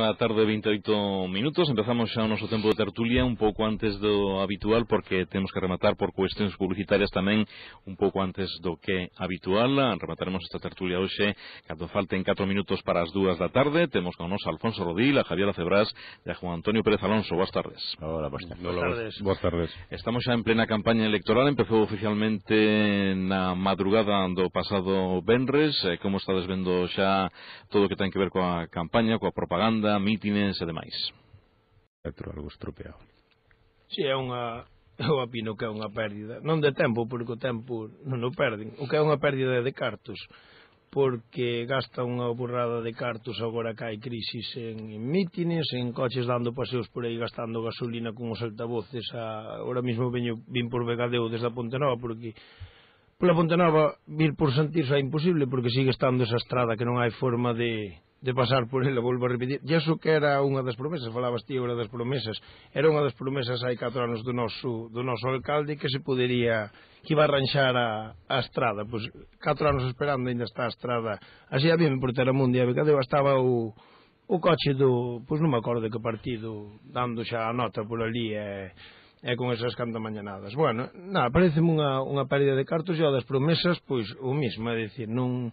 da tarde, 28 minutos. Empezamos xa o noso tempo de tertulia un pouco antes do habitual, porque temos que rematar por cuestións publicitarias tamén un pouco antes do que habitual. Remataremos esta tertulia hoxe cando falten 4 minutos para as 2 da tarde. Temos con nos a Alfonso Rodil, a Javier Acebrás e a Juan Antonio Pérez Alonso. Boas tardes. Hola, boas tardes. Boas tardes. Estamos xa en plena campaña electoral. Empezou oficialmente na madrugada do pasado venres. Como estades vendo xa todo o que ten que ver coa campaña, coa propaganda, mítines e demais? Algo estropeado. Si, eu opino que é unha pérdida, non de tempo, porque o tempo non o perden, o que é unha pérdida de cartos, porque gasta unha burrada de cartos agora que hai crisis en mítines, en coches dando paseos por aí gastando gasolina con os altavoces. Ahora mesmo vin por Vegadeo desde a Pontenova, porque pola Pontenova vir por Santirso é imposible, porque sigue estando esa estrada que non hai forma de pasar por ela, volvo a repetir. E iso que era unha das promesas, falabas ti agora das promesas, era unha das promesas hai 4 anos do noso alcalde, que se podería, que iba a arranxar a estrada. Pois 4 anos esperando, ainda está a estrada así a bien por Teramundi e Vegadeo. Estaba o coche pois non me acordo de que partido, dando xa a nota por ali e con esas cantamañanadas. Bueno, pareceme unha pérdida de cartos. E das promesas, pois o mismo, é dicir, non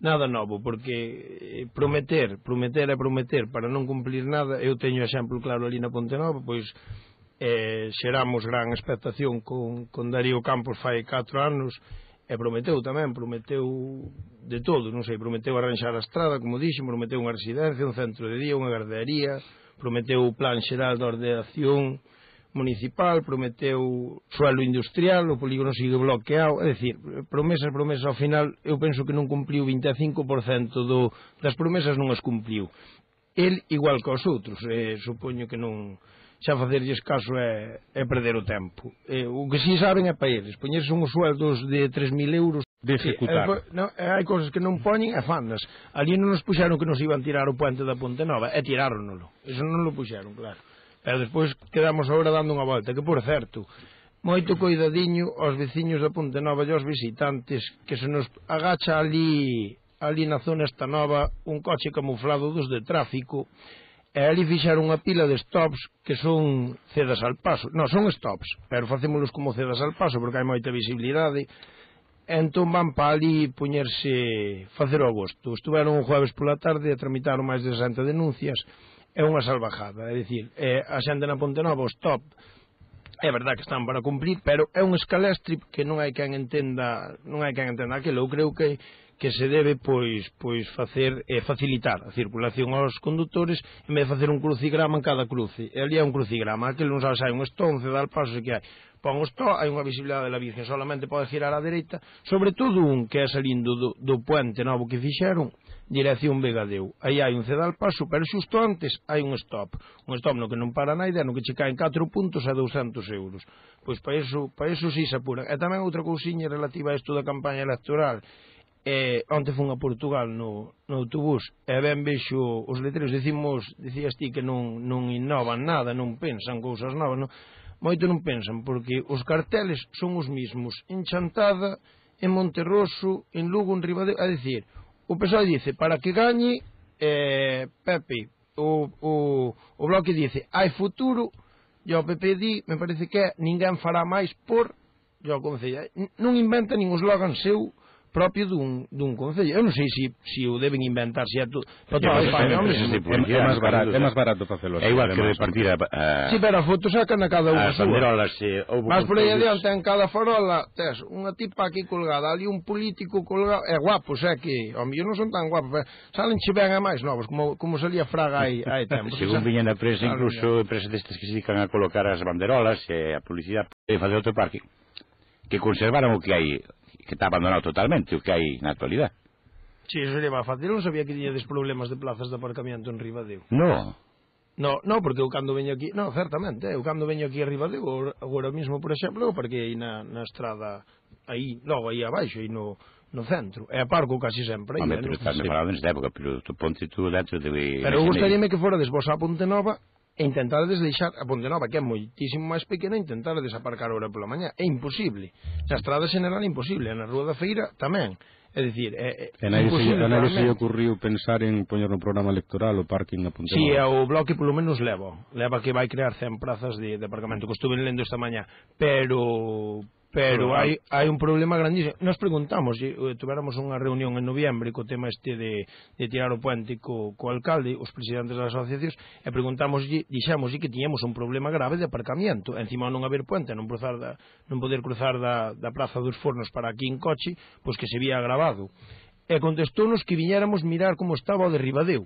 nada novo, porque prometer para non cumplir nada. Eu teño exemplo claro ali na Pontenova, pois xeramos gran expectación con Darío Campos fai 4 anos, e prometeu de todo, non sei, prometeu arranxar a estrada, como dixen, prometeu unha residencia, un centro de día, unha gardería, prometeu o plan xeral de ordenación municipal, prometeu suelo industrial, o polígono sigue bloqueado. É dicir, promesas, ao final eu penso que non cumpliu 25% das promesas, non as cumpliu. El igual que os outros, supoño que non, xa facerlles caso é perder o tempo. O que si saben é para eles, poñerse uns sueldos de 3.000 euros de executar. Hai cousas que non poñen e fandas. Ali non nos puxeron que nos iban tirar o puente da Pontenova, e tiráronolo. Eso non lo puxeron, claro. Pero despois quedamos agora dando unha volta, que por certo, moito coidadiño aos veciños da Pontenova e aos visitantes, que se nos agacha ali na zona esta nova un coche camuflado dos de tráfico, e ali fixaron unha pila de stops que son cedas al paso. Non, son stops, pero facémolos como cedas al paso porque hai moita visibilidade. Entón van para ali facer o agosto. Estuveron un jueves pola tarde e tramitaron máis de 60 denuncias. É unha salvajada, é dicir, a xente na Pontenova, o stop, é verdad que están para cumprir, pero é un escalestri que non hai quen entenda aquilo. Eu creo que se debe pois facer facilitar a circulación aos condutores, en vez de facer un crucigrama en cada cruce. E ali é un crucigrama, aquilo non sabe se hai un estonce, dá al paso, que hai. Pon o stop, hai unha visibilidade da Virgen, solamente pode girar á dereita, sobre todo un que é salindo do puente novo que fixeron, dirección Vegadeo. Aí hai un cedal paso, pero xusto antes hai un stop no que non para naide, no que che caen 4 puntos a 200 euros. Pois para iso si se apuran. E tamén outra cousiña relativa a isto da campaña electoral. Onte fun a Portugal no autobús e ben vexo os letreiros, dicías ti que non innovan nada, non pensan cousas novas, non? Moito non pensan, porque os carteles son os mismos en Chantada, en Monterroso, en Lugo, en Ribadeo. É dicir, o pessoal dice, para que gañe Pepe, o Bloque dice, hai futuro, e o PP di, me parece que ninguén fará máis por, e o Concello non inventa nin o slogan seu propio dun concello. Eu non sei se o deben inventar, se é todo para toda España. É máis barato facelo. É igual que repartir si, pero a foto sacan a cada unha as banderolas. Mas por aí adiante, en cada farola tes unha tipa aquí colgada, ali un político colgado, é guapos, é que ao mellor non son tan guapos, salen che ben a máis novos, como salía Fraga hai tempo. Según viña na prensa, incluso empresas destas que se dedican a colocar as banderolas e a publicidade e facer outro parque, que conservaron o que hai, que está abandonado totalmente, o que hai na actualidade. Si, eso sería máis fácil. Eu non sabía que tiñades problemas de plazas de aparcamiento en Ribadeo. No, porque eu cando veño aquí, certamente, eu cando veño aquí a Ribadeo, agora mesmo, por exemplo, eu parquei na estrada aí, logo aí abaixo, aí no centro, e aparco casi sempre aí. Pero estás falando nesta época, pero tu ponte tú dentro de... Pero eu gustaríame que fora vos a Pontenova e intentarades deixar a Pontenova, que é moitísimo máis pequena, intentarades aparcar ahora pola mañá. É imposible. Na estrada general é imposible, na Rúa da Feira tamén. É dicir, a nadie se lle ocurriu pensar en poñer no programa electoral o parking a Ponte Si, Nova. o Bloque polo menos leva que vai crear 100 plazas de aparcamento, que estuve lendo esta mañá, pero hai un problema grandísimo. Nos preguntamos, tuveramos unha reunión en noviembre co tema este de tirar o puente co alcalde, os presidentes das asociacións, e dixemos que tiñamos un problema grave de aparcamiento, encima non haber puente, non poder cruzar da Praza dos Fornos para aquí en coche, pois que se vía agravado. E contestounos que viñéramos mirar como estaba o de Ribadeo.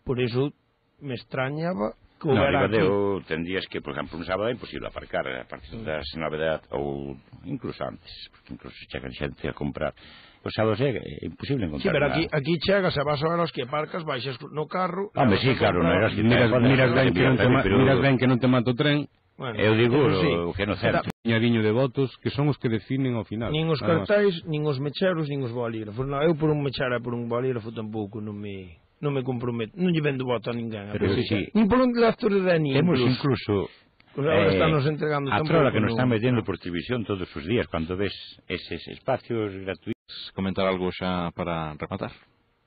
Por iso me extrañaba que no, houbera aquí. Ribadeo tendrías que, por exemplo, un sábado é imposible aparcar a partir das 9 ou incluso antes, porque incluso chegan xente a comprar. Os sábados é imposible encontrar. Sí, pero aquí chegas e vas a ver os que aparcas, baixas no carro. Home, sí, claro, non era así. Miras ben que non te mata o tren. Bueno, eu digo sí, que no certo. Puñadiño de votos que son os que definen ao final. Nin os cartais, nin os mecheros, nin os bolígrafos. No, eu por un mechero e por un bolígrafo tampouco non me comprometo, non lle vendo voto a ninguén. Pero sí, nin por un lector de Dani. Temos incluso ahora estamos entregando a trola que nos están metendo por televisión todos os días cando ves eses espacios gratuitos. Comentar algo xa para rematar.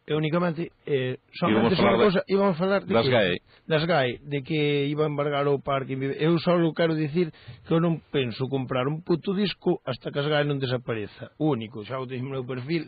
Únicamente somente íbamos a falar de das GAE, de que iba a embargar o parque. Eu só quero dicir que eu non penso comprar un puto disco hasta que as GAE non desapareza. Único, xa o teño no meu perfil.